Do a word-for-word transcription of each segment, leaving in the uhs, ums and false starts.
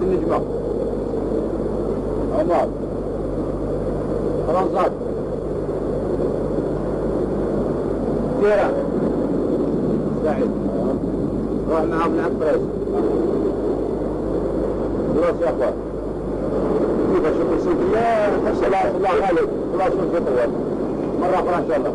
النجمة. عمر فرنسا كيرا سعيد روح معاهم العباس. خلاص يا اخوان كيف اشوف السلطية خلاص الله غالب خلاص نفطر مرة أخرى إن شاء الله.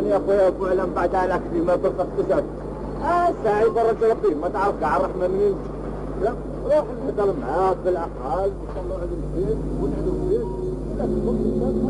يا اخويا فعلا بعد عليك فيما تلقى اقتصاد. اه ساعي برا تلقيه ما تعرف كاع الرحمه منين. لا روح نهضر معاك بالاقل وصلوا على البيت ونعدوا فيه. لا ما تعرف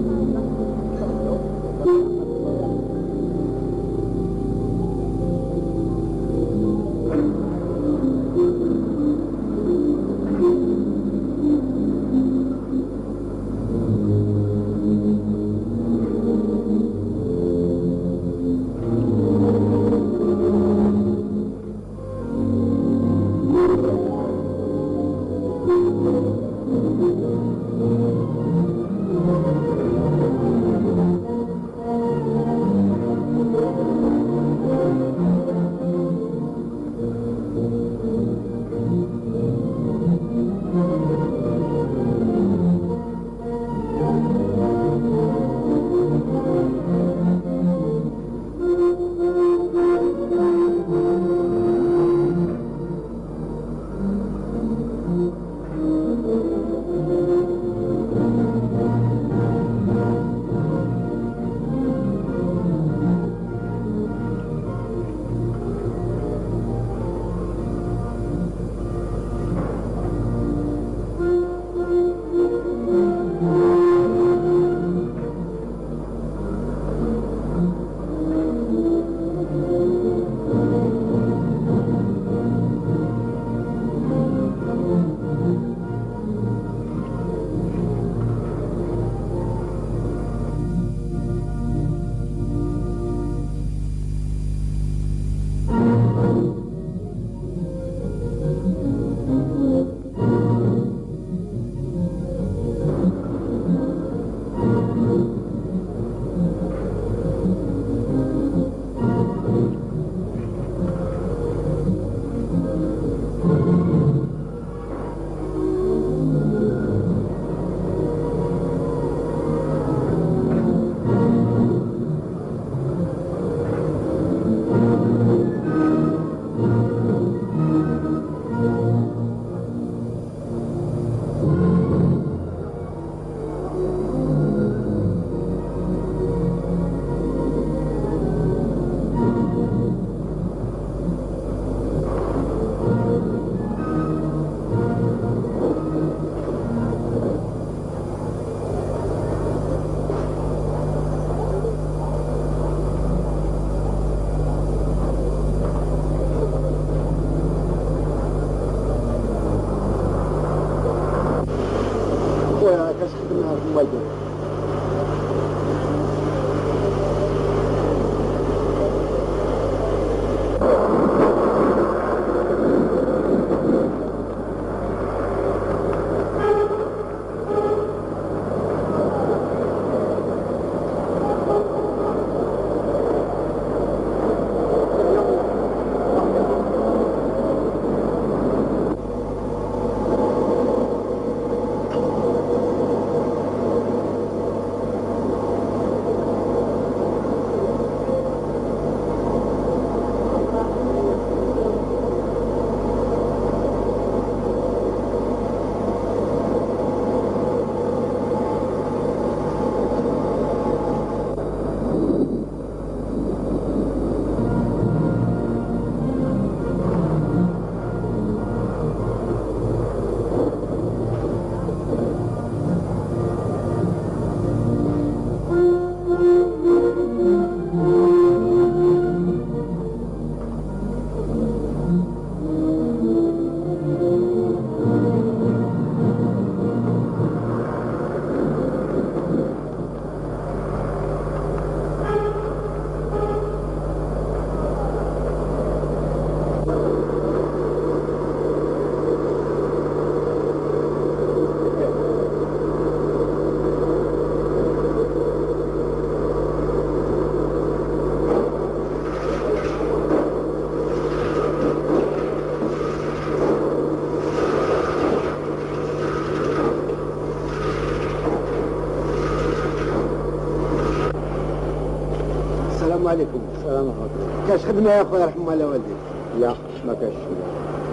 عليكم. السلام عليكم. كاش خدمه يا خويا رحم الله والديك؟ لا ما كاش.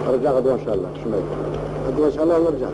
نرجع غدوه ان شاء الله. شمال غدوه ان شاء الله نرجع.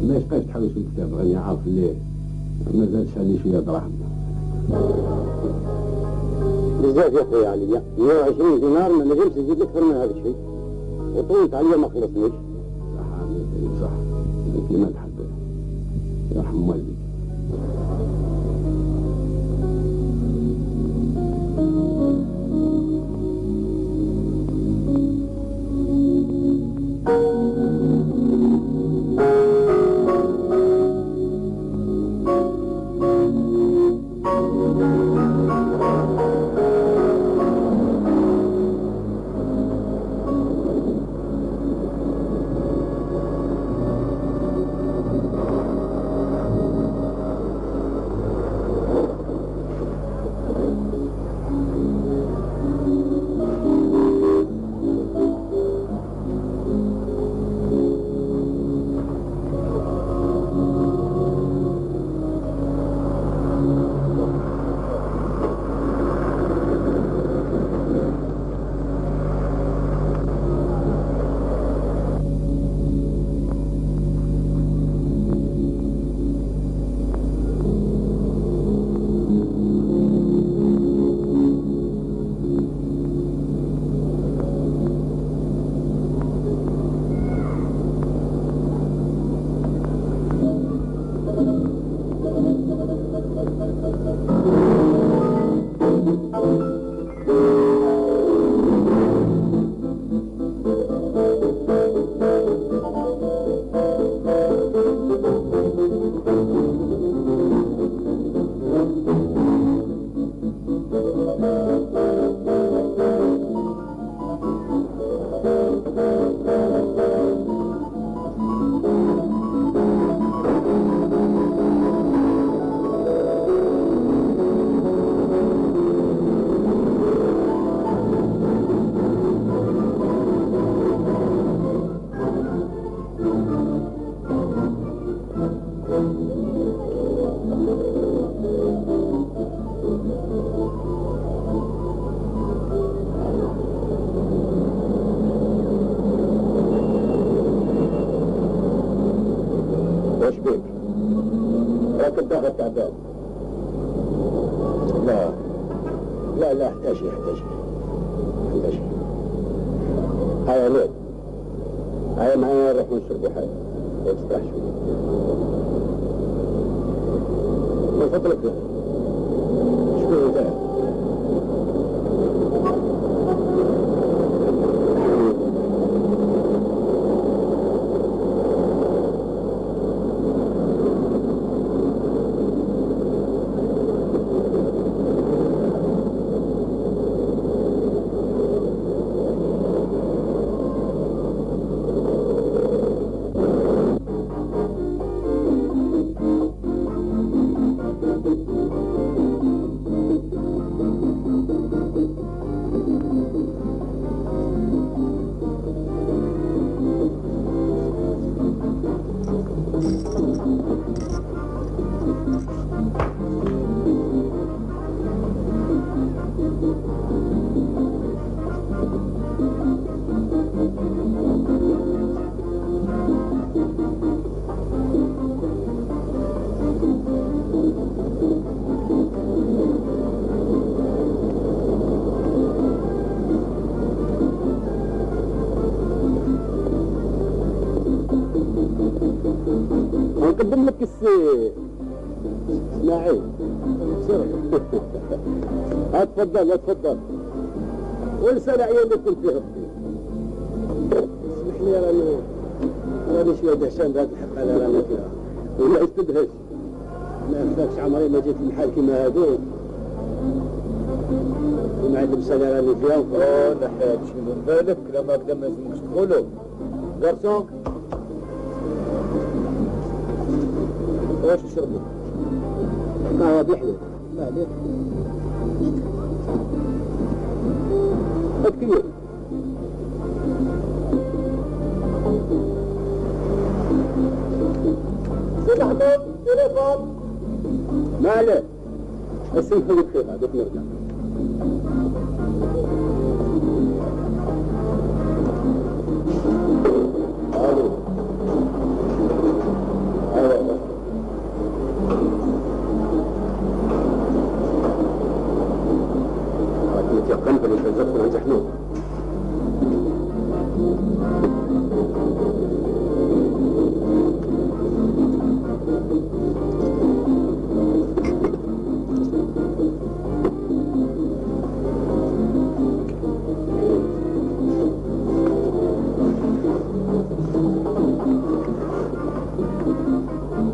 ما يبقاش تحوس الكتاب، غادي يعرف اللي مازالش عليه شويه دراهم. بزاف يا خويا عليا، مية وعشرين دينار ما نجمش نزيد لك أكثر من هذا الشيء، وطولت عليا ما خلصنيش. صح عمي صح، كيما تحب يرحم والديك. واش بيك؟ راك الدهر تعبان. لا لا لا احتاج احتاج احتاج. هيا نوم، هيا معايا نروح نشربوا حاجة وتستريح شوية. من فضلك شكون انت؟ نقدم لك السي اسماعيل. اتفضل اتفضل. ولسان عيال اللي كنت فيه ربي. اسمح لي راني راني شويه دهشان بهذا الحق على رانا فيها. ولا استدهش. ما فاكش عمري ما جيت المحل كيما هذوك. ومع اللبسه اللي راني فيها. اوه نحيت شي من بالك لما هكذا ما لازمكش تقولوا. غرسون واش تشربوا؟ قهوة بحليب. لا ليه؟ هات كبير. سيد أحمد تليفون. ما عليه. اسمحوا لي بخير هذوك نرجع. الو. ايوه.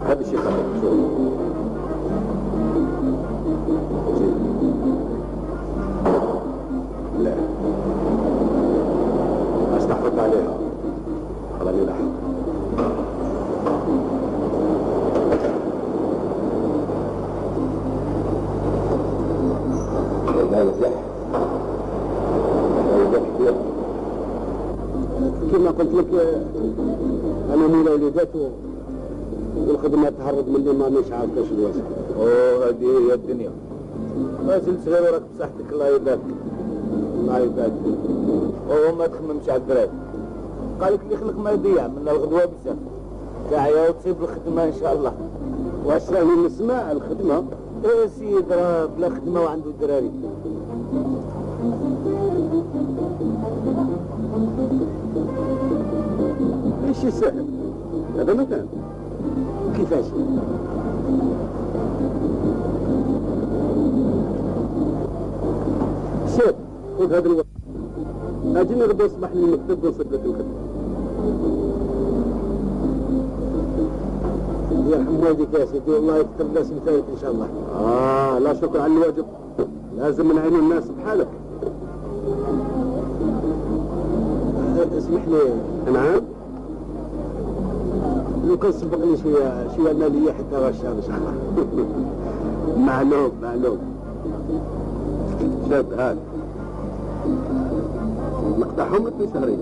هذا الشيء خطر. شوف لا استحفظت عليها خلاني لاحق. لا يفلح كما قلت لك انا مولاي وليدات والخدمه تهرب مني ما مش عارف كاش الواسع. اوه هذه هي الدنيا. ما زلت صغير وراك بصحتك الله يبارك. الله يبارك. اوه ما تخممش على الدراري. قال لك اللي خلق ما يضيع من الغدوه بزاف. تعيا وتصيب الخدمه ان شاء الله. واش راني نسمع الخدمه؟ ايه سيد راه بلا خدمه وعنده دراري. ماشي سهل هذا مكان. كيفاش؟ شوف خذ هذا الوقت اجيني غدا الصباح للمكتب ونصيب لك الخدمه. يرحم والديك يا سيدي والله يكثر الناس اللي فايت ان شاء الله. اه لا شكر على الواجب، لازم نعين الناس بحالك. اسمح لي. نعم. لو كان سبقني شويه شويه ماليه حتى غشام ان شاء الله. معلوم معلوم. شاب هاد نقطعهم لك في شهرين.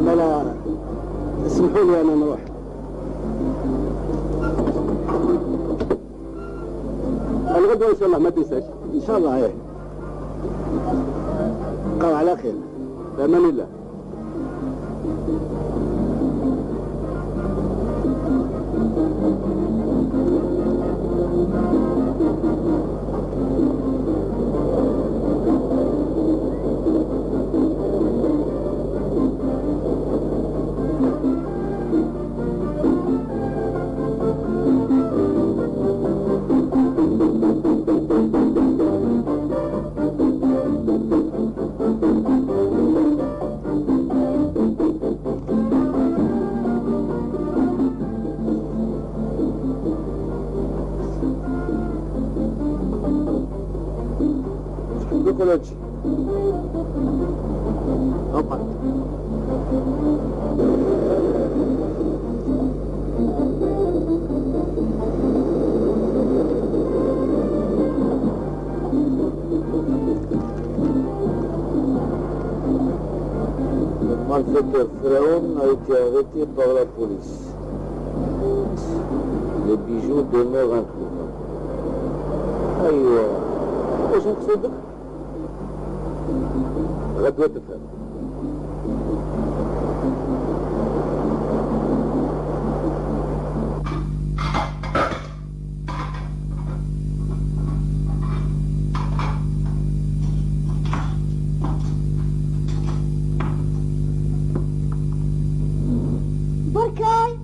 لا لا اسمحوا لي انا نروح. الغدوة ان شاء الله ما تنساش. ان شاء الله ايه. بقاو على خير. بامان الله. كولوجي اقعد. Malfaiteur Pharaon a été arrêté par la police. Les bijoux demeurent introuvés. أيوة. وش نقصدك؟ غدوة تفهم. بركاي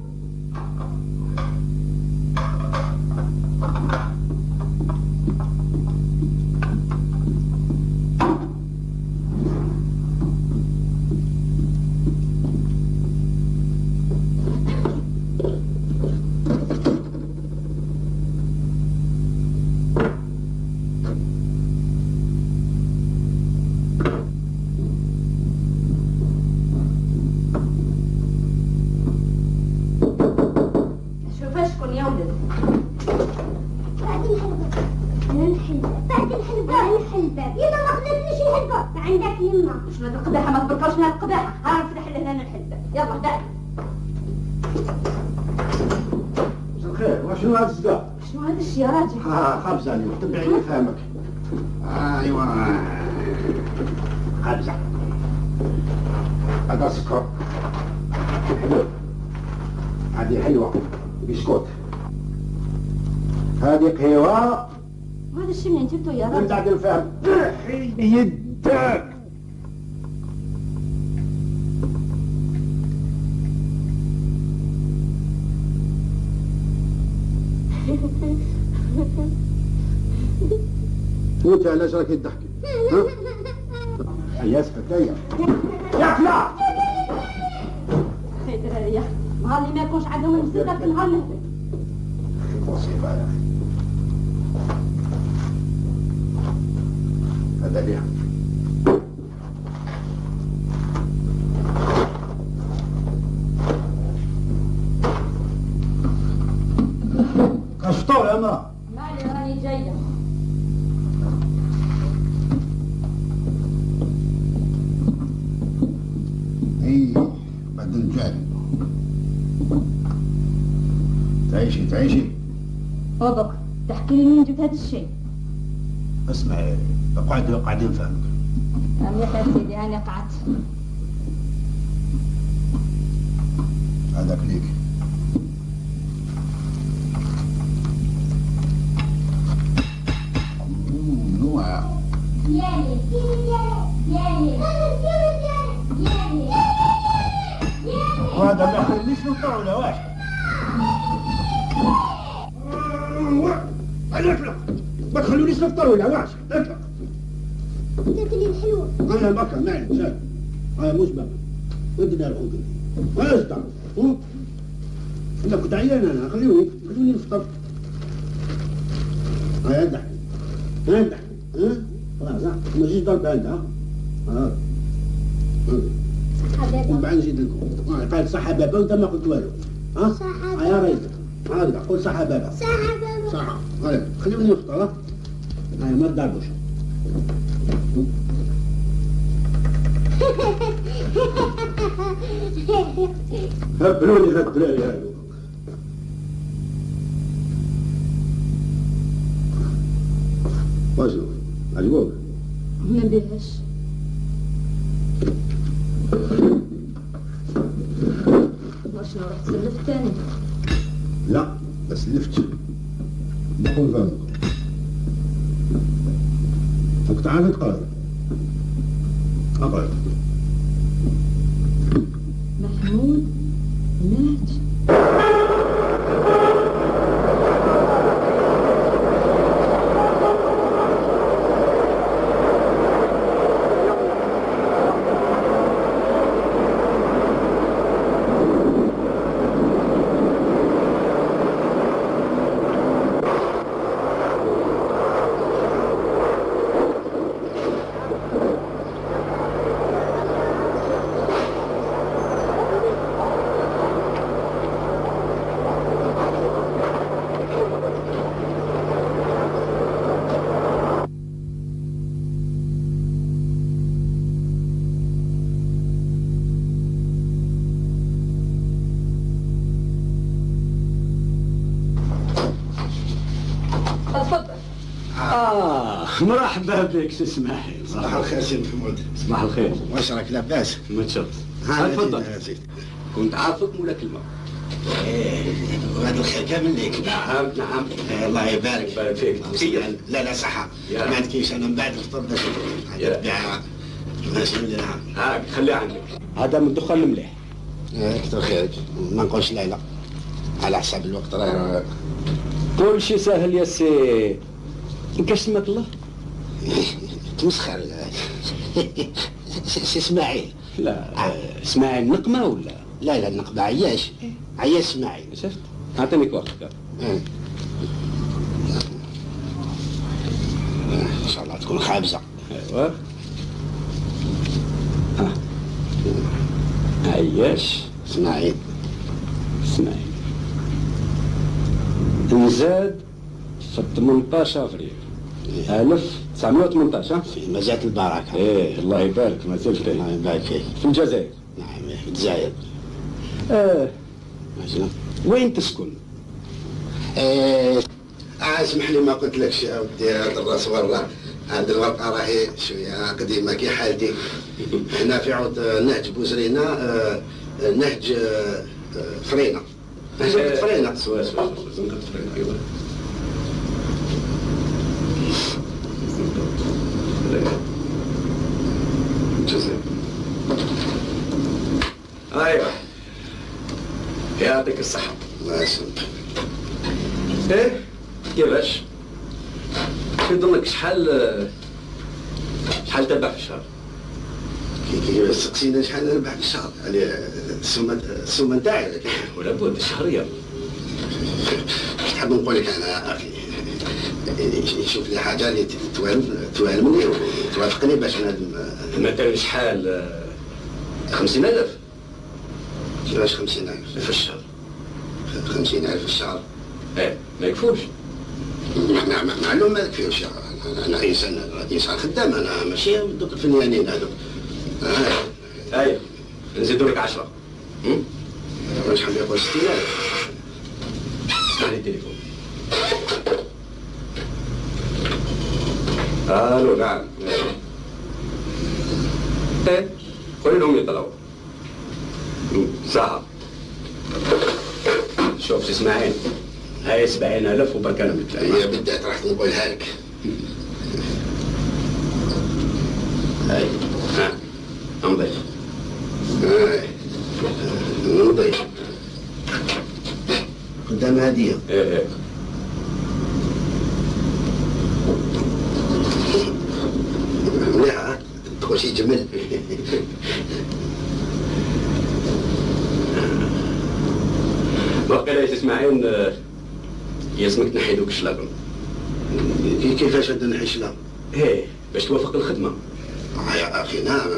عندك يما. شنو هاد القداحه؟ ما تبركوش من هاد القداحه. ها نفتح لهنا الحلبه. يلا تعال. مساء الخير. وشنو هاد الصداع؟ شنو هاد الشيء يا راجل؟ ها خبزه عليك تبعيني فهمك. ايوا خبزه. هذا سكر. حلو. هذه حلوه. بسكوت. هذه قهوه. هذا الشيء منين جبته يا راجل؟ انت عاد الفهم. يدك. وانت علاش راكي تضحكي؟ هيا اسكت هيا يا فلا خير درارية نهار اللي ما يكونش عندهم المصيبة في نهار نهبط. مصيبة يا أخي هذا ليها كشطور يا امرأة. مالي راني جاية. اي بعدين جاي تعيشي تعيشي. وبك تحكي لي منين جبت هذا الشيء؟ اسمعي اقعدي قاعدين نفهمك. مليح يا سيدي هاني قعدت. هذاك ليك. منوع. ديالي ديالي ديالي وهذا ما يخليش نطول واش. اطلق ما تخلونيش نفطر ولا واش. اطلق تاكلي الحلوة. انا بكا ما عليك شاد. هاي مش بكا ودنا الخوك هاي ازدع انا كنت عيان انا خلوني خلوني نفطر. هاي ادح هاي ادح ها خلاص ها ما تجيش ضرب انت ها ها صحة بابا. ومن بعد نزيد لكم. ها قال صحة بابا وانت ما قلت والو. ها صحة هاي يا ريت هكذا قول صحة بابا. صحة بابا. صحة هاي خلوني نفطر ها هاي ما تضربوش. هبلوني هاد الدراري هادو. واشنو عجبوك؟ ما بيهاش. واشنو رحت سلفت تاني؟ لا بس لفت بقول فهمك. كنت عارف تقرا اقرا. محمود مات. مرحبا بك سي اسماعيل. صباح الخير سي محمود. صباح الخير. واش راك لاباس؟ متشرف. تفضل. كنت عارفك مولا كلمة. ايه وهذا الخير كامل ليك. نعم نعم. إيه الله يبارك. يبارك فيك. لا لا صحة. ما عندكيش انا من بعد الفطور باش نبيع. ماشي نعم. هاك خليها عندك. هذا من الدخان المليح. ايه كثر خيرك. ما نقولش لا لا. على حساب الوقت راه كل شيء سهل يا سي. كاش سماك الله؟ تمسخر سي اسماعيل. لا اسماعيل نقمة ولا؟ لا لا النقبة عياش. عياش اسماعيل. شفت؟ اعطيني كوارت. ايه ان شاء الله تكون خابزة. ايوا عياش اسماعيل. اسماعيل نزاد في ثمنطاش افريل ألف وتسعمائة وثمنطاش. ها في مزات البركة. ايه الله يبارك ما زلت. الله يبارك فيك. في الجزائر. نعم في الجزائر. اه ماشي. وين تسكن؟ ايه اه اسمح لي ما قلت لكش يا ودي هذا الراس والله هذه الورقه راهي شويه قديمه كي حالتي. هنا في عود نهج بوزرينه آه نهج آه فرينه. نهج فرينه. سوا سوا زنقة فرينه ايوا. الجزائر. ايوه يعطيك الصحة. الله يسلمك. ايه كيفاش؟ في ظنك شحال شحال تبع في الشهر؟ كي سقسينا شحال نربح في الشهر يعني السومه السومه نتاعي ولا بد الشهريه. واش تحب نقول لك انا اخي؟ شوف لي حاجه اللي توالمني وتوافقني باش نهدم. مثلا شحال؟ خمسين ألف؟ كيفاش خمسين ألف في الشهر؟ خمسين ألف في الشهر؟ ايه ما يكفوش. معلوم ما يكفيوش. انا انسان انسان خدام، انا ماشي دوك الفنانين هذوك. ايوه نزيدوا لك عشرة. واش حاب يقول ستين ألف؟ علي التليفون. الو نعم. ايه قولي لهم يطلعوا ساعة. شوف سي اسماعيل، هاي سبعين ألف وبرك أنا متلاقي. هي بدات راح نقولها لك. هاي ها امضي. هاي امضي قدام هدية. ايه ايه مليحة تقول شي جمل. باقي لا اسماعيل يلزمك تنحي دوك الشلاغم. كيفاش غادي نحي الشلاغم؟ ايه باش توافق الخدمة. يا اخي نعم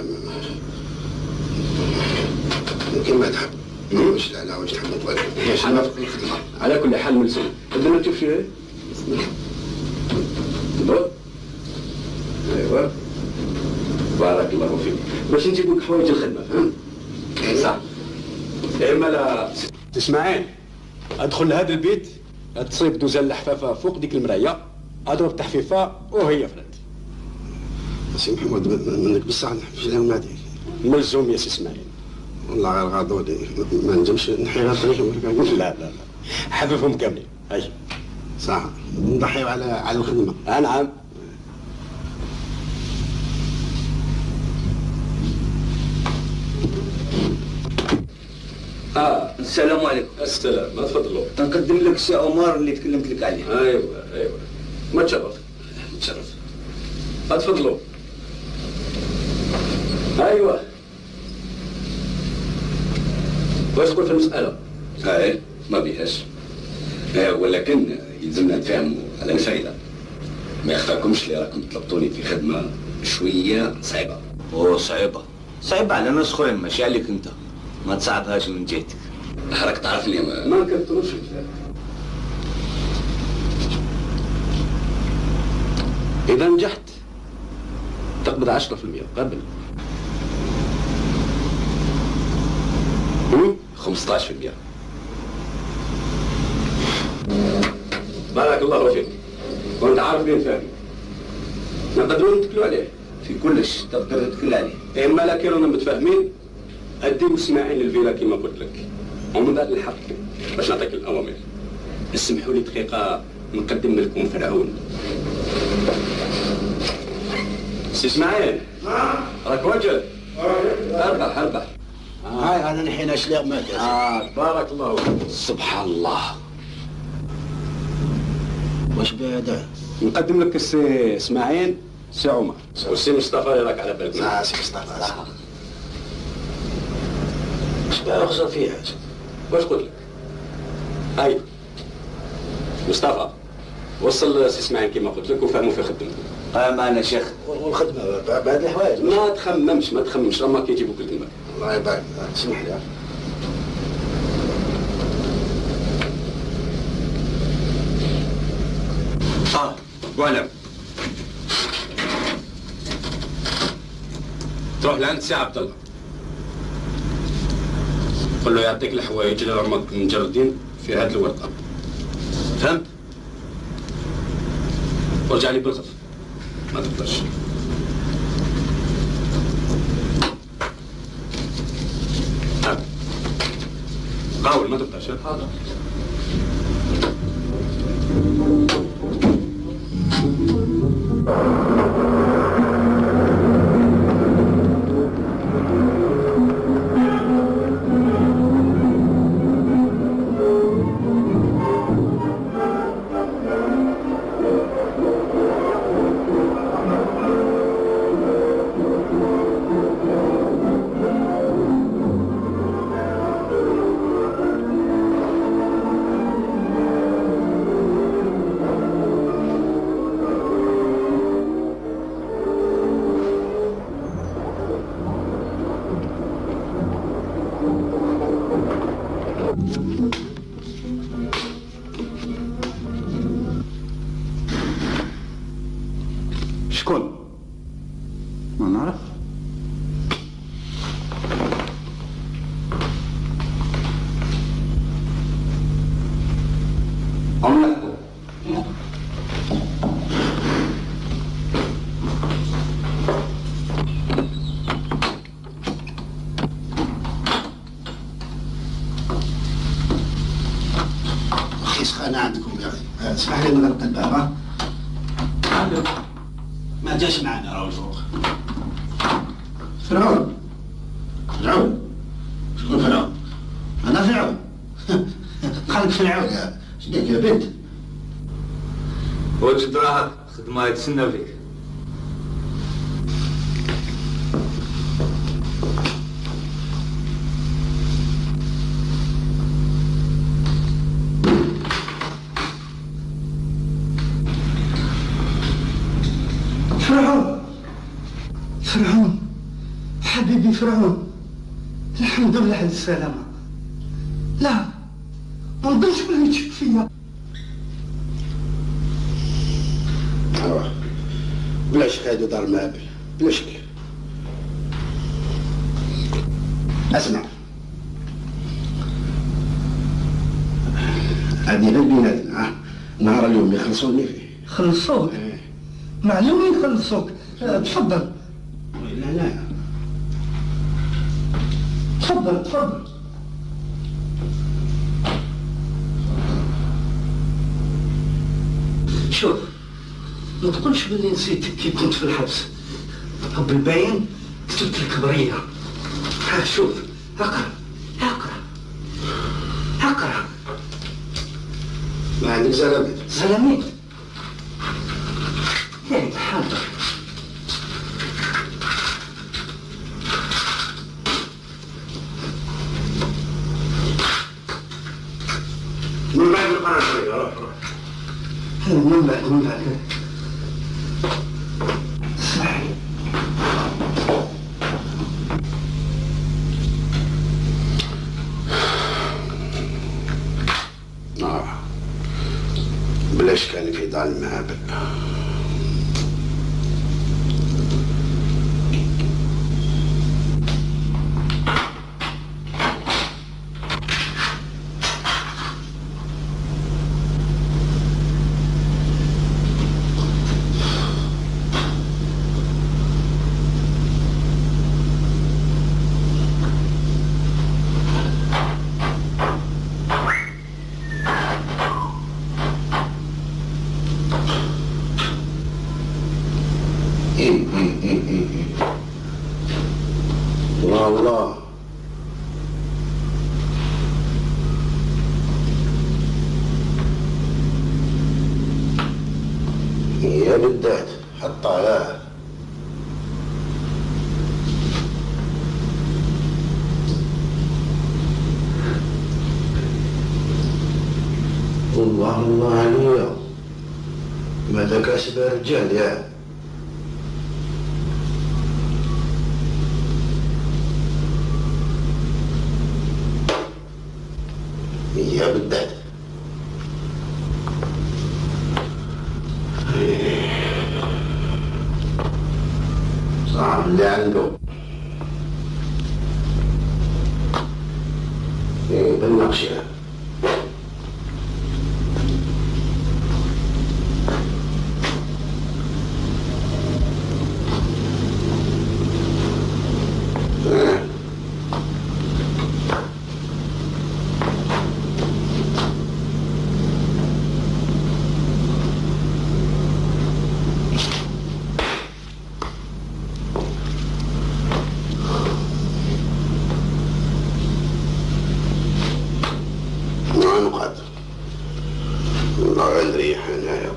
كما تحب. واش لا لا واش تحب نقول لك؟ أنا على كل حال ملزم. بدنا نشوف شي دور. ايوا بارك الله فيك. باش نجيب لك حوايج الخدمة فهمت؟ صح. اما لا اسماعيل ادخل لهذا البيت تصيب دوزة اللحفافة فوق ديك المراية، اضرب تحفيفة وهي فرد. سي محمود منك بصح نحبش لهم هذيك. ملزوم يا سي اسماعيل. والله غير غاضوني ما نجمش نحي غير طريقهم. لا لا لا حففهم كاملين. هاي صح نضحيو على على الخدمة. آه نعم. اه السلام عليكم. السلام، ما تفضلوا. نقدم لك السي عمر اللي تكلمت لك عليه. ايوه ايوه ما تشرف. تشرف. تفضلوا. ايوه واش تقول في المسألة؟ ايه ما بيهاش. ايه ولكن يلزمنا نتفاهموا على الفايدة. ما يخفاكمش اللي راكم طلبتوني في خدمة شوية صعيبة. اوه صعيبة صعيبة على ناس اخرين ماشي عليك انت، ما تصعبهاش من جهتك. راك تعرفني ما, ما نكثروش الكلام. إذا نجحت تقبض عشرة في المئة قبل. خمسطاش في المئة. بارك الله فيك. وانت عارف لي نفهم. نقدروا نتكلوا عليه. في كلش تقدر تدخل عليه. اما لا كانوا متفاهمين اديو اسماعيل للفيلا كما قلت لك، ومن بعد نحقق باش نعطيك الاوامر. اسمحوا لي دقيقه نقدم لكم فرعون. سي اسماعيل راك وجه. اربح اربح. هاي انا نحينا شلاغ مات. اه بارك الله فيك. سبحان الله. واش بهذا؟ نقدم لك السي اسماعيل سي عمر والسي مصطفى اللي راك على بالك. اه سي مصطفى صح. واش بها يخسر فيها؟ واش قلت لك؟ هاي مصطفى وصل سي اسماعيل كما قلت لك وفهموا في خدمته. اه معنا شيخ. والخدمه بهذه الحوايج. ما تخممش ما تخممش راهم كيجيبوك الكلمه. الله يبارك. اسمح لي. اه واعلم تروح لعند سي عبد الله قل له يعطيك الحوايج اللي راهم مجردين في هذه الورقه. فهمت؟ ورجع لي بالغف ما تقدرش. ها قاول ما تقدرش. حاضر. شكون؟ ما نعرف. عملك خيس خانة عندكم يا أخي، اسمح لي نغلق الباب. ها؟ ما جاش معنا راهو الفوق. فرعون فرعون شكون فرعون؟ أنا فرعون. خليك فرعون يا شنيك يا بنت؟ وجد راهك خدمة يتسنى فيك. فرعون فرعون حبيبي فرعون، الحمد لله على السلامة. لا ما نظنش بلي تشك فيا. أوه بلا شك هادو دار مابل بلا شك. اسمع هادي غير بيناتنا، نهار اليوم يخلصوني فيه. خلصوك؟ معلوم يخلصوك. تفضل. لا لا تفضل تفضل. شوف ما تقولش بلي نسيتك كي كنت في الحبس. بالباين كتبت لك بريه. ها شوف اقرا اقرا اقرا. ما عندك زلاميت؟ زلاميت؟ ايه حاضر. من بعد نقرا شويه. روح روح. من بعد من بعد. اسمح لي. آه بلاش كان في دار المعابد. الله الله يا بدات حط عليها. الله الله عليا ماذا كاسب رجال يا يا بدات. صعب اللي عنده ايه بالنقشة. الله نريح هنايا.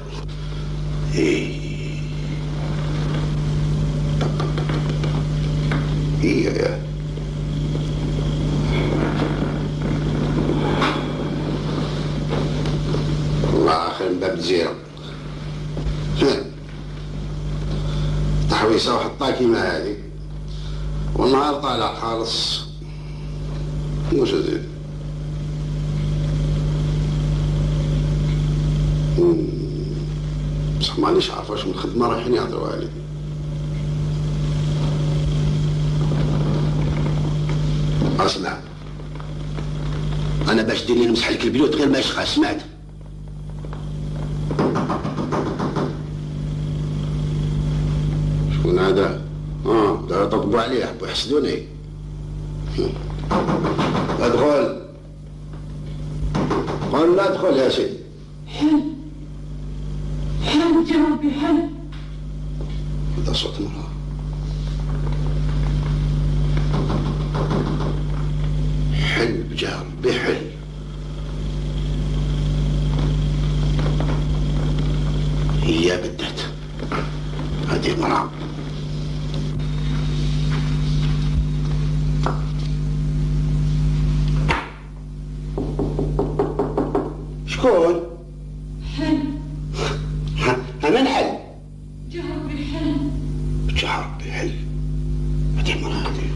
ايه ايه يا الله اخر من باب الجزيرة تحويسة وحطها كيما هذه والنهار طالع خالص. واش هذي بصح مانيش عارف واش من الخدمة رايحين يهضروا عليه. اسمع، أنا باش ديرني نمسح لك البيوت غير ما يشقى، سمعت؟ شكون هذا؟ اه دا يطبطبوا عليه، يحبوا يحسدوني. ادخل. قول لا ادخل يا سيدي. حل حل يا ربي حل. هذا صوت مرأة. حل بجاه ربي حل. هي بدت هذه المرأة. شكون؟ حل. أنا نحل. جهر بالحل. جهر بالحل. هذه المرأة هذه.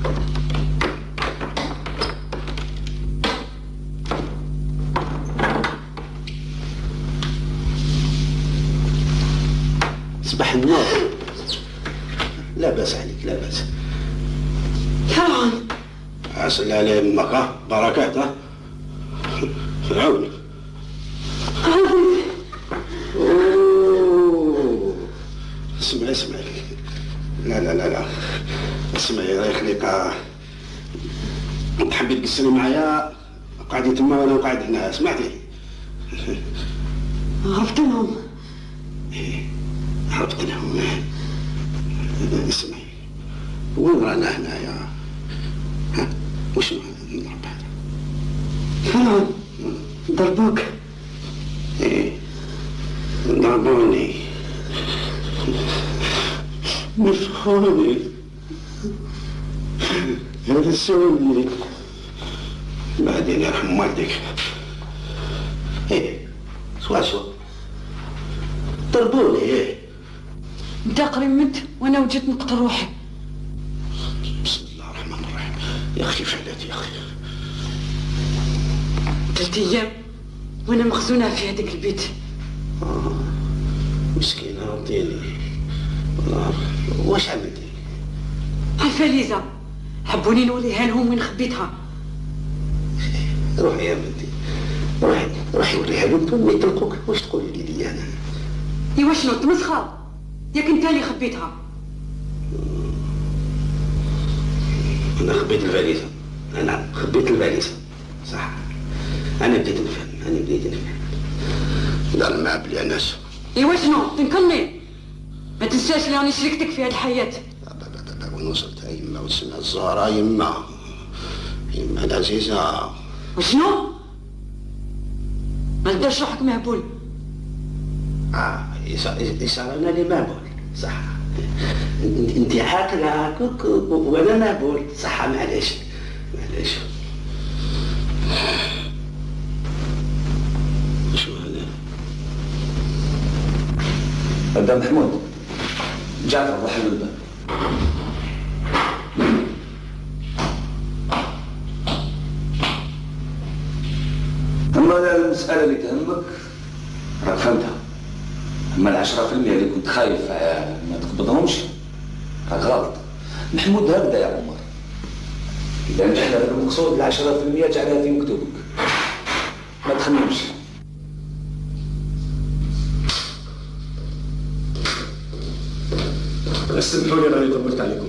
صباح النور. لا بأس عليك، لا بأس. فرعون. عسل على امك، ها بركات. ها فرعون. اسمعي اسمعي. لا لا لا لا اسمعي الله يخليك، تحبي تقصري معايا قاعدين تما وانا قاعد هنا، سمعتي؟ عرفت لهم. ايه عرفت لهم. اسمعي، وين رانا هنايا؟ ها وش نضرب هذا؟ فرعون ضربوك. ايه ضربوني، مسخوني، هرسوني، بعدين يرحم والديك. ايه سوا سوا ضربوني. ايه انت قريب مت وانا وجيت نقتل روحي. بسم الله الرحمن الرحيم. يا اخي فعلتي يا اخي. ثلاث ايام وانا مخزونه في هذاك البيت. آه مسكينه رديني والله. واش عملتي؟ الفاليزه حبوني نوليها لهم وين خبيتها. روحي يا بنتي، روحي روحي وريها لهم ثم يطلقوك. واش تقولي لي لي انا؟ ايوا شنو تمسخر؟ ياك انت اللي خبيتها. انا خبيت الفاليزه، انا خبيت الفاليزه صح. انا بديت نفهم، انا بديت نفهم. دار مع بلي انس. ايوا شنو تنكرني؟ ما تنساش اللي راني شريكتك في هذه الحياه. وين وصلت يا يما وتسمع الزهره يما، يما العزيزه. وشنو؟ ما تديرش روحك مهبول. اه يصير انا اللي مهبول صح. انت عاقله وانا مهبول صح. معليش معليش. شو هذا؟ هذا محمود. جعفر روح له الباب. أما المسألة اللي تهمك راك فهمتها. أما العشرة في المية اللي كنت خايف ما تقبضهمش راك غلط. محمود هكذا يا عمر، إذا نجحنا في المقصود العشرة في المية جعلها في مكتوبك، ما تخممش. اسمحوا لي راني طولت عليكم.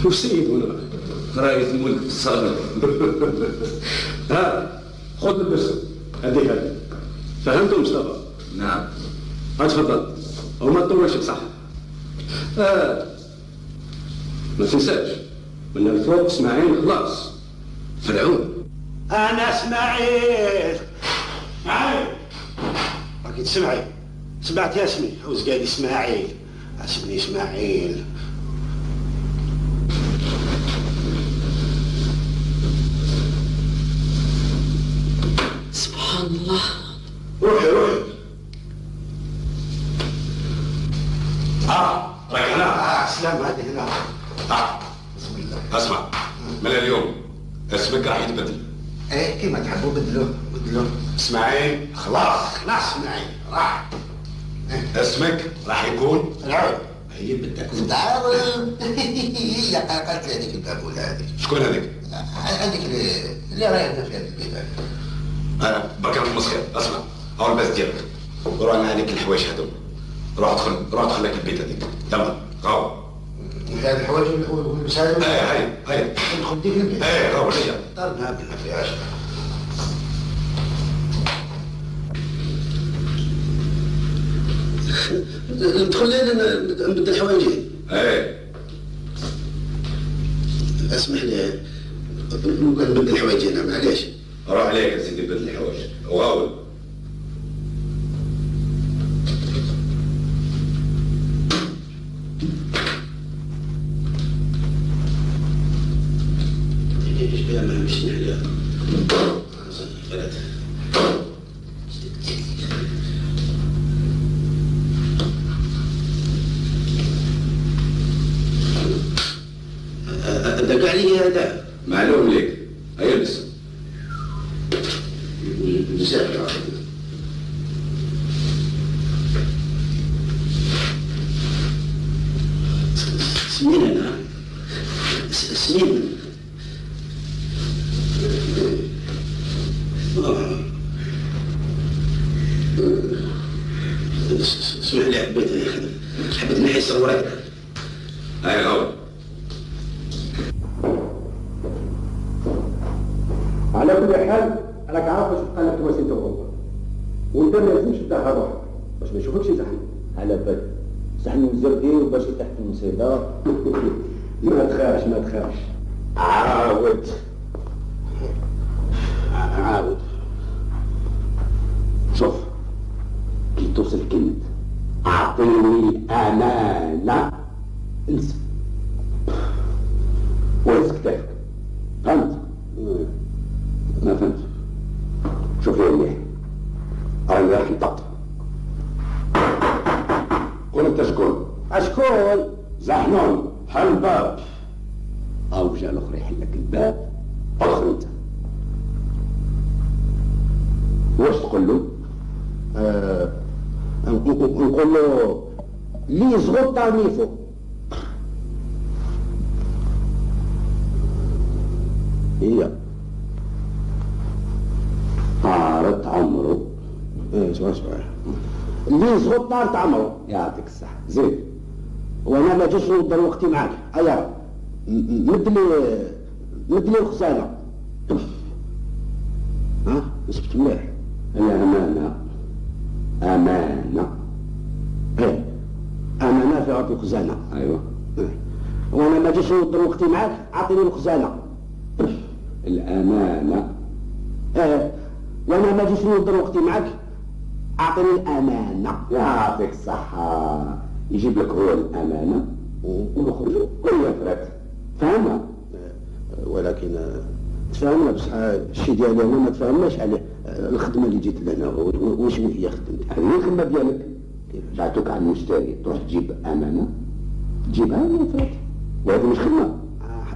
وسيد هنا راية الملك في الصالة. ها خذ البس هذه هذه. فهمتوا مصطفى؟ نعم. ها تفضل وما تطولش بصح. آه. ما تنساش من الفوق اسماعيل خلاص. فرعون. انا اسماعيل. اسماعيل راكي تسمعي؟ سمعت يا اسمي؟ عاوز قال اسماعيل. اسمني اسماعيل. سبحان الله. روحي روحي. اه راك هنا. اه سلام هذه هنا. اه بسم الله. اسمع، من اليوم اسمك راح يتبدل. ايه كيما تحبوا بدلوه بدلوه. اسماعيل خلاص خلاص اسماعيل راح. اسمك راح يكون العود. هي بدك تعرف هي قالت لي هذيك البابوله هذيك. شكون هذيك؟ هذيك اللي اللي رايحه في هذا البيت. انا بكر المسخر. اسمع هو الباس ديالك روح على هذيك الحوايج هذوك. روح ادخل روح ادخل لك البيت هذيك يلا غاو. هذه الحوايج واللبس هذا. ايه هاي هاي ندخل ديك البيت. ايه غاو هي دارنا ما فيهاش. ندخل لين نبدل الحوايج. ايه اسمح لي نبغى نبدل الحوايج انا معليش. روح عليك يا سيدي بدل الحوايج وغاول. ايش بها ما مشينا عليها. ثلاثة. دق علي هذا. معلوم ليك هيا لبس. بزاف سنين انا سنين. اسمح لي حبيت حبيت نحي صورك. هاي غاول. على كل حال راك عارف واش بقى لك تواسيت اوروبا وانت ما لازمش تدخل روحك باش ما يشوفكش زحمه. على بالك صحن الزردي باش تحت المصيده. ما تخافش ما تخافش. عاود عاود شوف كي توصل كلمة أعطيني الأمانة انسى وهز كتافك. فهمت؟ ما فهمت. شوف يا مليح راني راح نطقطق. قول انت شكون؟ اشكون؟ زحنون حل الباب. او جا الاخر يحل لك الباب. ادخل انت. واش تقول له؟ آه نقول له لي زغط تعنيفو. هي طارت عمره. ايه شوي شوي اللي زغط طارت عمره. يعطيك الصحة زين. وانا ما جيش نقدر وقتي معاك. ايا مدلي مدلي الخزانة. ها نسبت مليح. هي امانة امانة. ايه امانة في عطي الخزانة. ايوه إيه. وانا ما جيش نقدر وقتي معاك. اعطيني الخزانة. الامانة. ايه وانا ما جيش نقدر وقتي معاك. اعطيني الامانة. يعطيك الصحة. يجيب لك هو الامانة ونخرجوا كل فرات. فاهمها؟ ولكن تفاهمنا بصح الشيء ديالي انا ما تفاهمناش عليه. الخدمة اللي جيت لهنا واش هي خدمتك؟ هذه الخدمة ديالك. بعتوك على المشتري تروح تجيب امانة تجيبها من فرات. وهذه مش خدمة.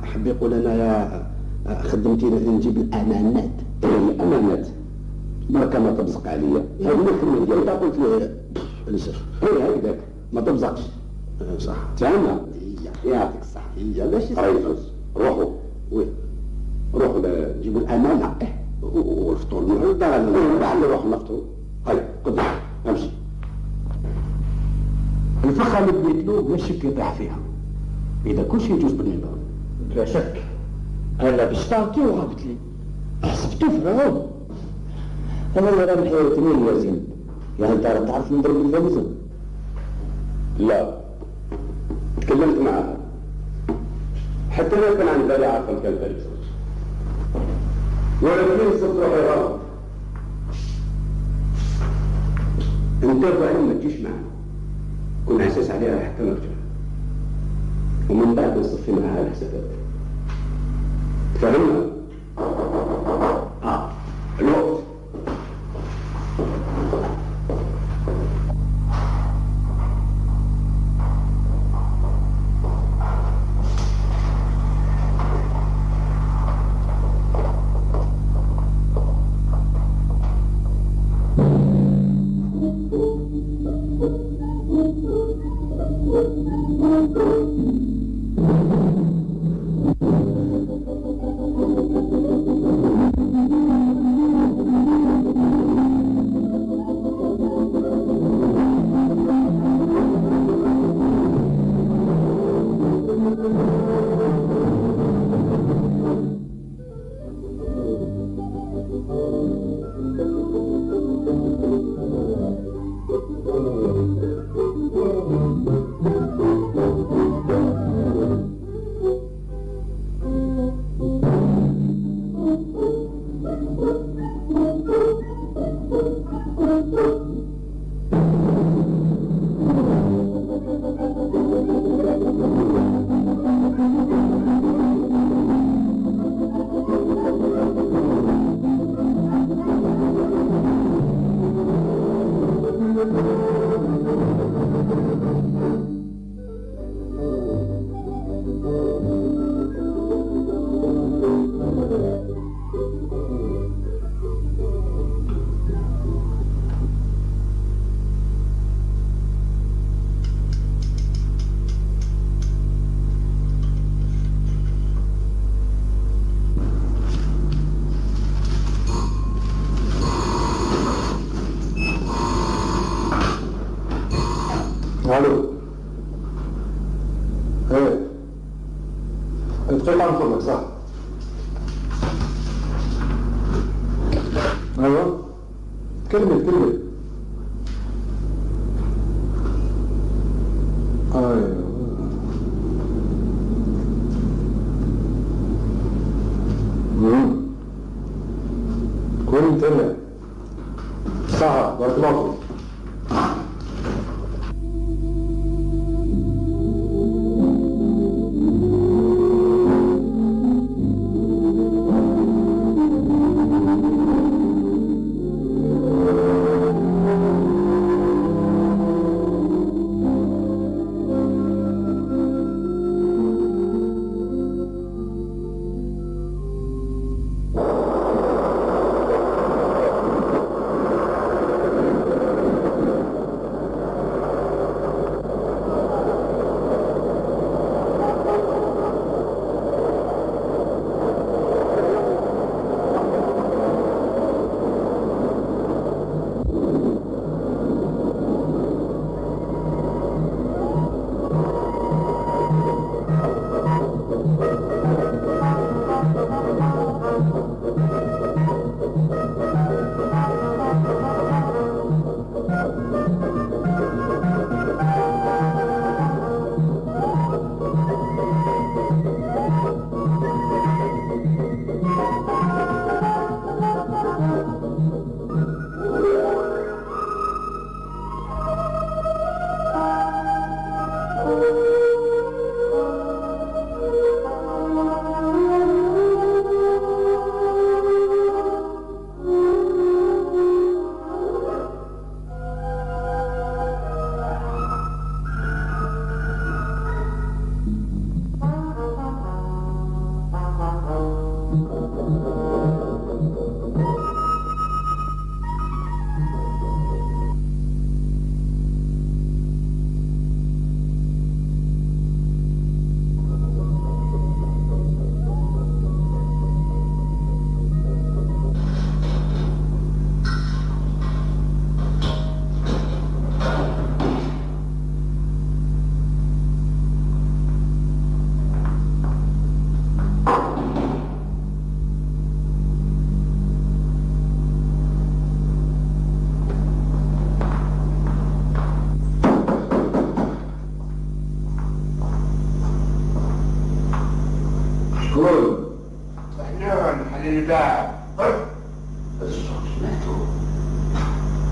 حب يقول انا يا خدمتي نجيب الامانات. الامانات بركة ما تبزق عليا. هذه الخدمة ديالك. انت قلت لي لسه هي هكذاك ما تبزقش. صح تفهمها؟ يعطيك الصحة. هي ماشي ريفوس. روحوا وين؟ روحوا جيبوا الامانة والفطور من الدار. لعل نروح نفطروا. هيا قدام امشي. الفخة اللي بديت له بلا شك يطيح فيها. اذا كل شيء يجوز بالنظام. لا شك. هلا باش تعطيه وغابت لي. حسبتو فرعون. انا اللي راه محيرتني الوزن. يعني انت راه تعرف نضرب الوزن؟ لا تكلمت معها حتى ما كان عن بالي عارفه كان بالي ولكن صرت روحي غلط. انت وعلم ما تجيش معنا. كنا اساس عليها حتى نرجع ومن بعد نصفي معها الحسابات. فهمنا؟ اه الوقت. ايه دقيقة نقول لك صح. ايوه كمل كمل. ايوه امم كون متابع صح. بارك الله فيك.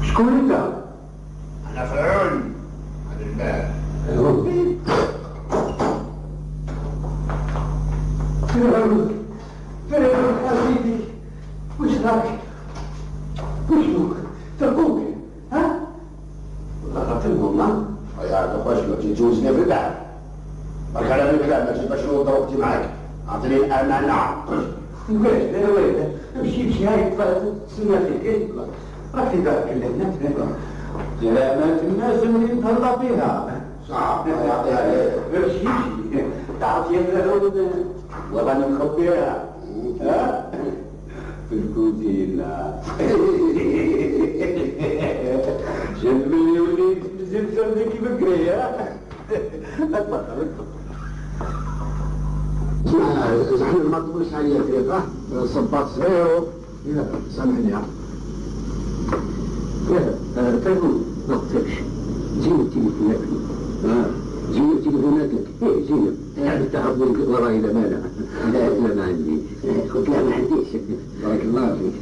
شكون انت؟ انا فرعون على الباب. فرعون فرعون حبيبي، وش راك؟ وشنوك؟ تركوك ها؟ ضربتهم ها؟ يا اخويا شنو تجوزني في الباب؟ برك على الكلام ماشي باش نو ضربتي معاك، اعطيني الامانه. ويش لا ويش امشي امشي هاي تسمى فيك راك في بالك الناس سلامات الناس اللي نتهلا فيها صعب يعطيها ليه؟ امشي امشي تعرف يا فرعون والله انا مخبيها. ها؟ في الكوزينة جنبي وليد زلزل ذيك بكري ها؟ اتفضل زحنا ما تقولش عليا فريقه صباط صغير. سامحني يا تلفون ما قلتلكش جينا التليفونات اه جينا التليفونات لك ايه جينا يعني تعرف وراي لا مانع لا لا ما عندي قلت لا ما عنديش بارك الله فيك.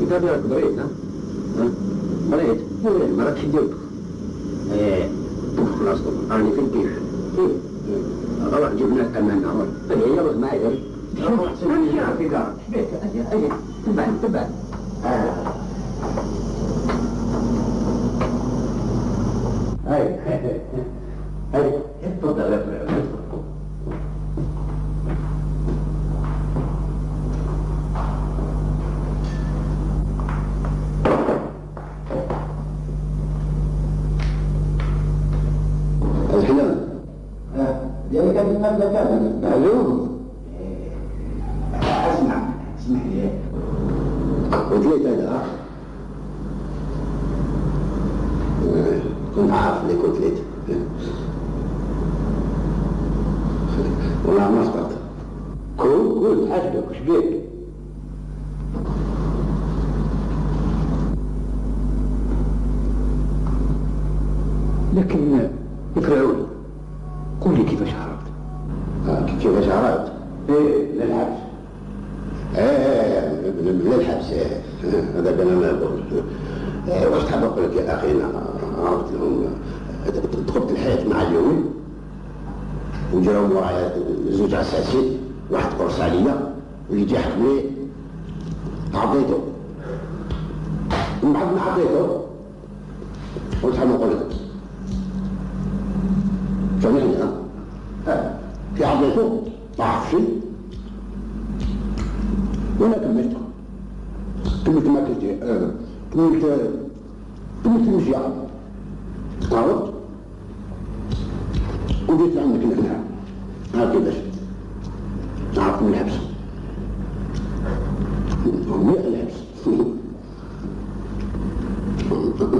انت راك بريت ها؟ ها؟ بريت؟ ما راكش درت ايه خلاص راني في الكيف ايه روح جيب لك امانه روح هي يلا معايا روح امشي في دارك بيت اجي اجي تبع تبع هاي هاي هاي اتفضل يا فرعون. الحلم ديالك هذه المبدا كامل معلوم. اسمع اسمح لي قلت لك هذا كنت عارف اللي قلت لك نحاسبك وش بيك؟ لكن اقرأوا لي قول لي كيفاش هربت؟ آه كيفاش هربت؟ ايه للحبس. ايه للحبس ايه هذاك انا ما نقول. ايه واش تحب نقول لك يا اخي انا عرفت لهم دخلت الحياه مع اليوم وجاو ورايا زوج عساسين واحد قرص عليا ويجي حكمني عطيته من بعد ما عطيته قلت حاب نقول لك سامحني ها ها في عطيته ما عرف شيء وانا كملت كملت ما كنت كملت كملت المشي عرفت وجيت عندك هنا ها كيفاش عرفت من الحبس مليح الحبس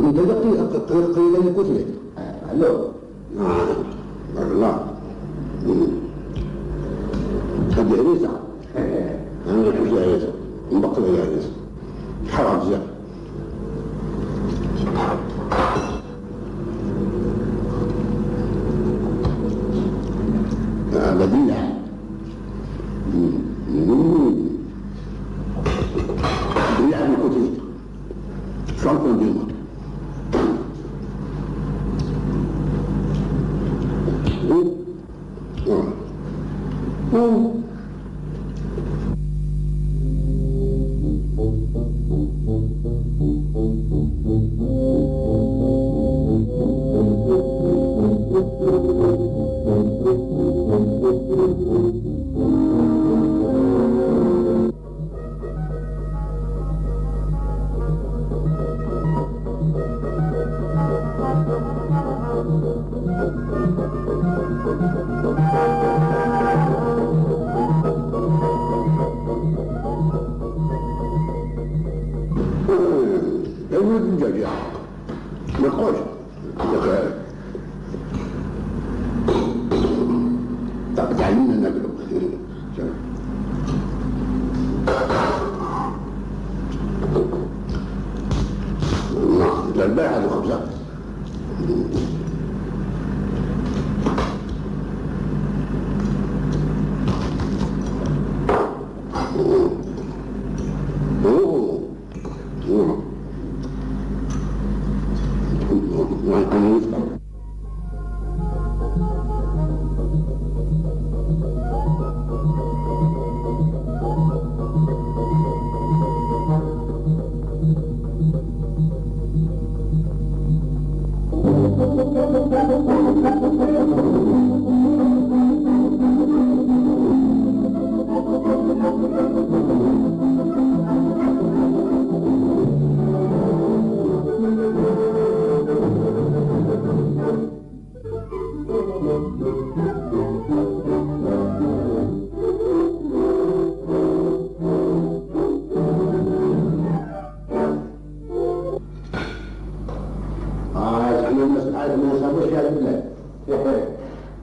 انت دقيقة قليلا كتلك الو بارك الله هذه هريسة انا نحوش هريسة نبقى لها هريسة حرام بزاف بديع بديع من كتلك شو نكون ديما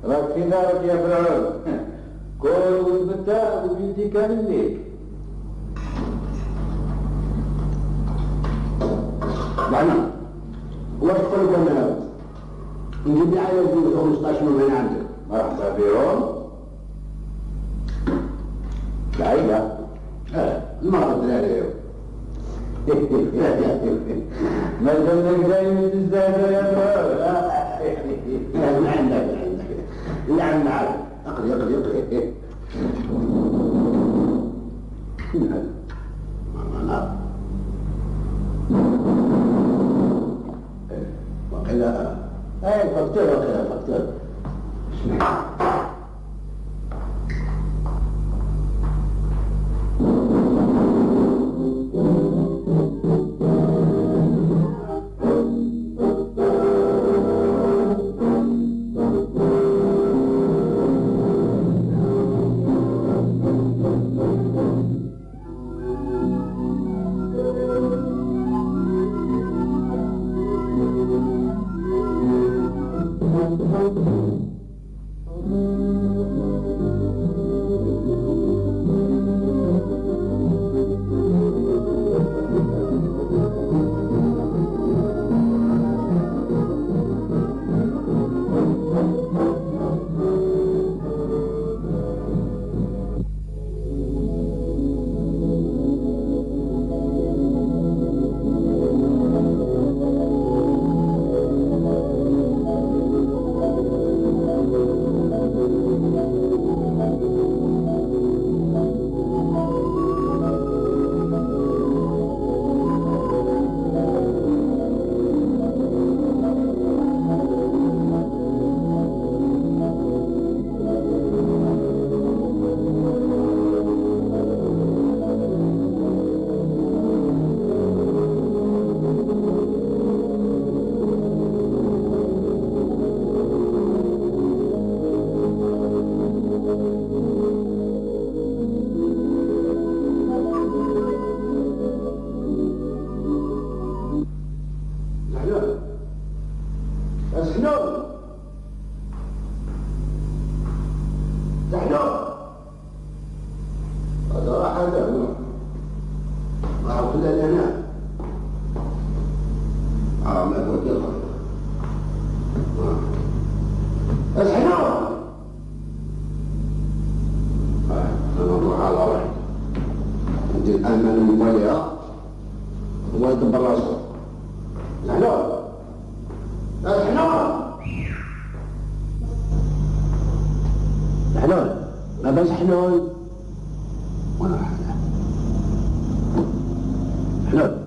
راك في دارك يا فرعون كل وثبتها وبيدي كامل ليك. بعنا واش تقول انا نجيب لي عيال ديال خمسطاش من هنا عندك مرحبا بهم العيلة اه المرأة الدراري ما دامك دايما تزداد يا فرعون من عندك من عندك اللي عندنا عارف اقري اقري اقري من هذا ما وقيل اي فكتور وقيل فكتور الحلول. انا نروح على روحي ندير الامان الموليها هو يدبر راسو. الحلول الحلول الحلول ما باش حلول وانا حلول.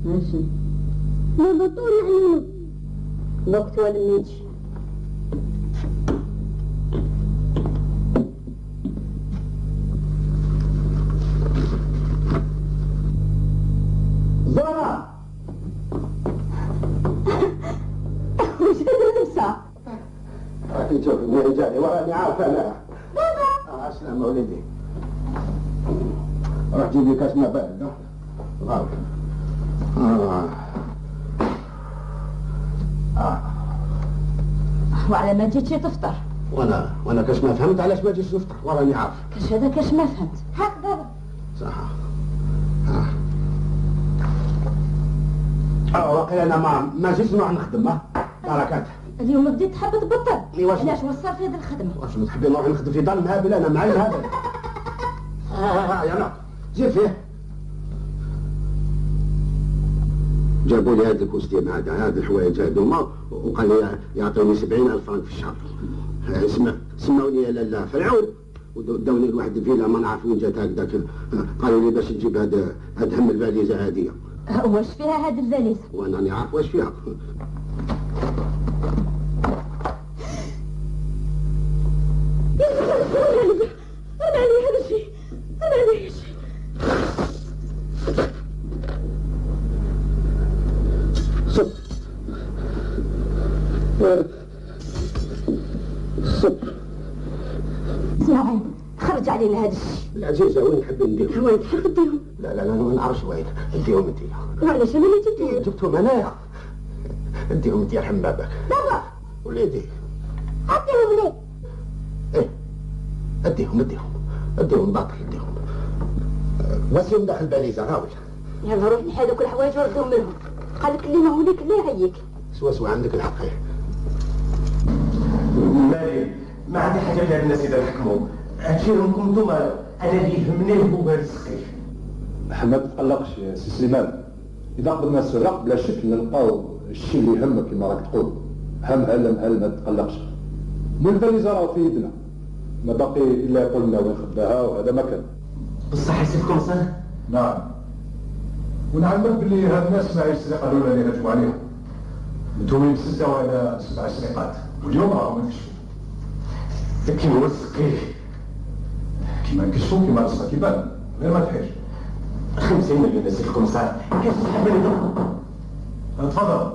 ماشي بابا طول علينا الوقت ولا ميجي. زهرة وش هذا لبسة؟ راكي تشوف اللي جاني وراني عارفة أنا. بابا آه سلام وليدي. روح جيب لي كاس ماء بارد. غاوي. آه. آه. وعلى ما جيتش تفطر؟ وانا وانا كاش ما فهمت علاش ما جيتش نفطر وراني عارف. كاش هذا كاش ما فهمت. هاك بابا. صح. اه. اه واقيلا انا ما ما جيتش نروح نخدم ها. بركات. اليوم بديت تحب تبطل. واش علاش وصل في هذه الخدمة؟ واش تحبي نروح نخدم في دار المهابل انا معي المهابل. اه اه يلا جيب فيه. جابوا لي هاد الكوستيم هذا هاد الحوايج هذوما وقال لي يعطوني سبعين ألف فرنك في الشهر. اسمع سماوني يا لالا فرعون وداوني لواحد الفيلا ما نعرف وين جات هكذاك. قالوا لي باش تجيب هاد هاد هم الفاليزه هذه. واش فيها هاد الفاليزه؟ وانا راني عارف واش فيها. انا علي هذا الشيء انا علي هذا الشيء. صب صب اسمعي خرج علينا هذا الشيء. العزيزة وين نحب نديهم؟ وين تحب تديهم؟ لا لا لا ما نعرفش وين. اديهم انت. وعلاش انا اللي جبتهم؟ جبتهم انايا. اديهم انت يرحم بابك. بابا وليدي اديهم لي. ايه اديهم اديهم اديهم باطل اديهم. واسيهم داخل الباليزة غاول. يلا روح نحي هذوك الحوايج وردهم لهم. قال لك اللي ما هو ليك لا يعيك. سوا سوا عندك الحق. مالي ما عندي حاجه بها الناس اذا حكموا. هادشي لكم نتوما، انا اللي يهمني هو هذا السقيف. ما تقلقش يا سي سليمان، اذا قدرنا السرق بلا شك نلقاو الشيء اللي يهمك كما راك تقول. هم هلا هل ما تقلقش. مو الفاليزه راه في يدنا، ما باقي الا يقول لنا وين خباها وهذا ما كان. بصح يسيبكم صح؟ نعم. ونعلمك باللي هاد الناس ما السرقه الاولى اللي هجموا عليهم. متهمين بسته ولا سبع سرقات، واليوم راهم يكشفوا. لكن هو السقيف كيما نكشفوا كيما راسها كيبان، غير ما تحيش. خمسين مليون يسيبكم صح؟ كيف تحب لي؟ تفضل.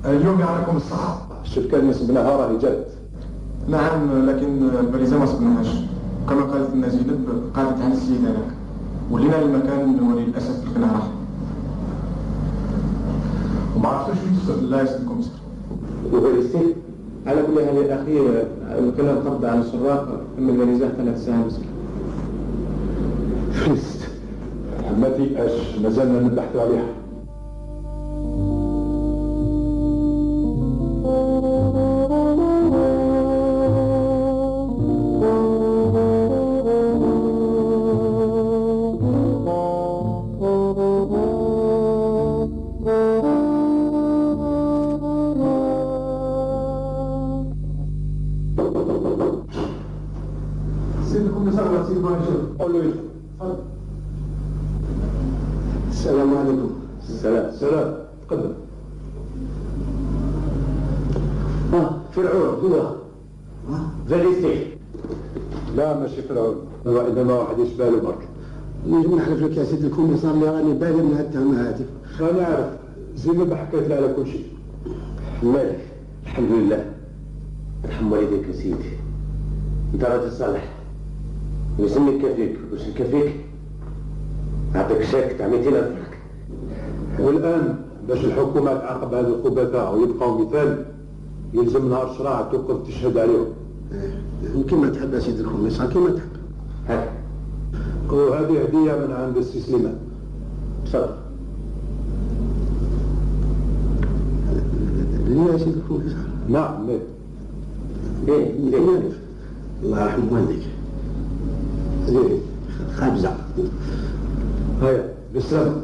اليوم يعطيكم الصحة. الشركة اللي سبناها راهي جات. نعم، لكن البريزة ما سبناهاش. كما قالت لنا زينب قعدت عن السيد هذاك. ولينا المكان وللأسف لقيناه راح. وما عرفتوش وين تسكن؟ لا يسلمكم سر. وفاليستي على كل حال يا أخي كنا نقبض على السراق من البريزة ثلاث ساعات مسكين. فلست. ما تيأس، مازلنا نبحثوا عليها. السلام عليكم. السلام. السلام. تقدم. اه فرعون هو. اه فاليستي. لا ماشي فرعون، هو انما واحد يشبه له برك. نجم نحلف لك يا سيدي الكوميسار اللي راني بالي من هالتهمه هذه. راني عارف، زينب حكيت لها على كل شيء. مالك؟ الحمد لله. ارحم والديك يا سيدي. انت راجل صالح. ويسميك كفيك، واش نكفيك؟ نعطيك شاك تاع مئتين ألف فرنك. والآن باش الحكومة تعاقب هذه الخبثاء ويبقاو مثال يلزم نهار شراع توقف تشهد عليهم. كيما تحب يا سيدي الكوميسار كيما تحب. هاك. وهذه هدية من عند السي سليمان. تفضل. ليه يا سيدي الكوميسار؟ نعم ليه؟ ليه؟ ليه؟ الله يرحم والديك. ليه؟ خابزة. هيا بالسلامة.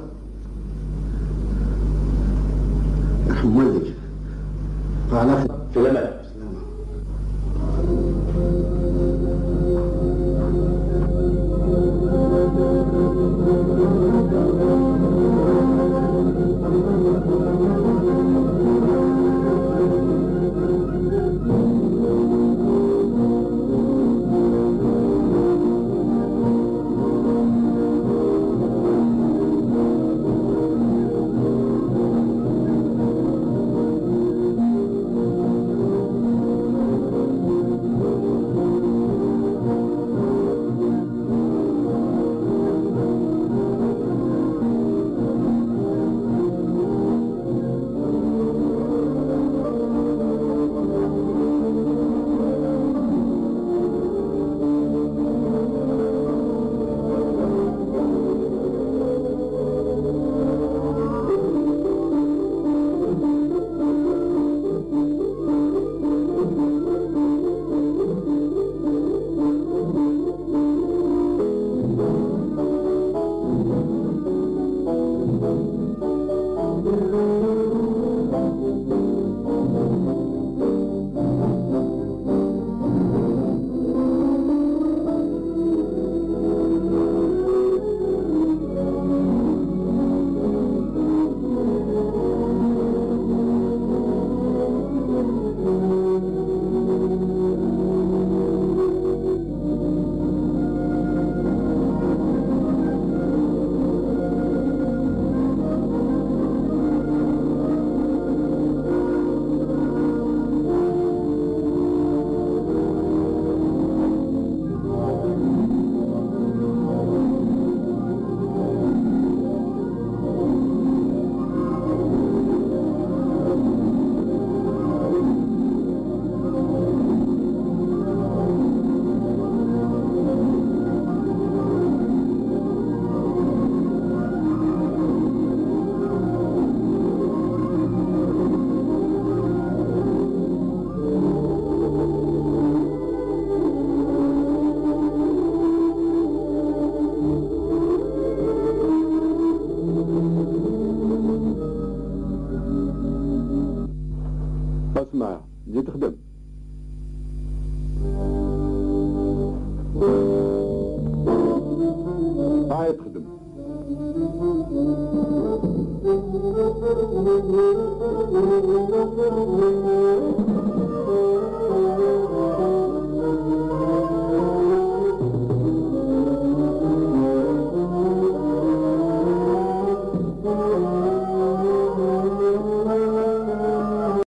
يرحم والديك. على في الأمان. هي تخدم. Thank you.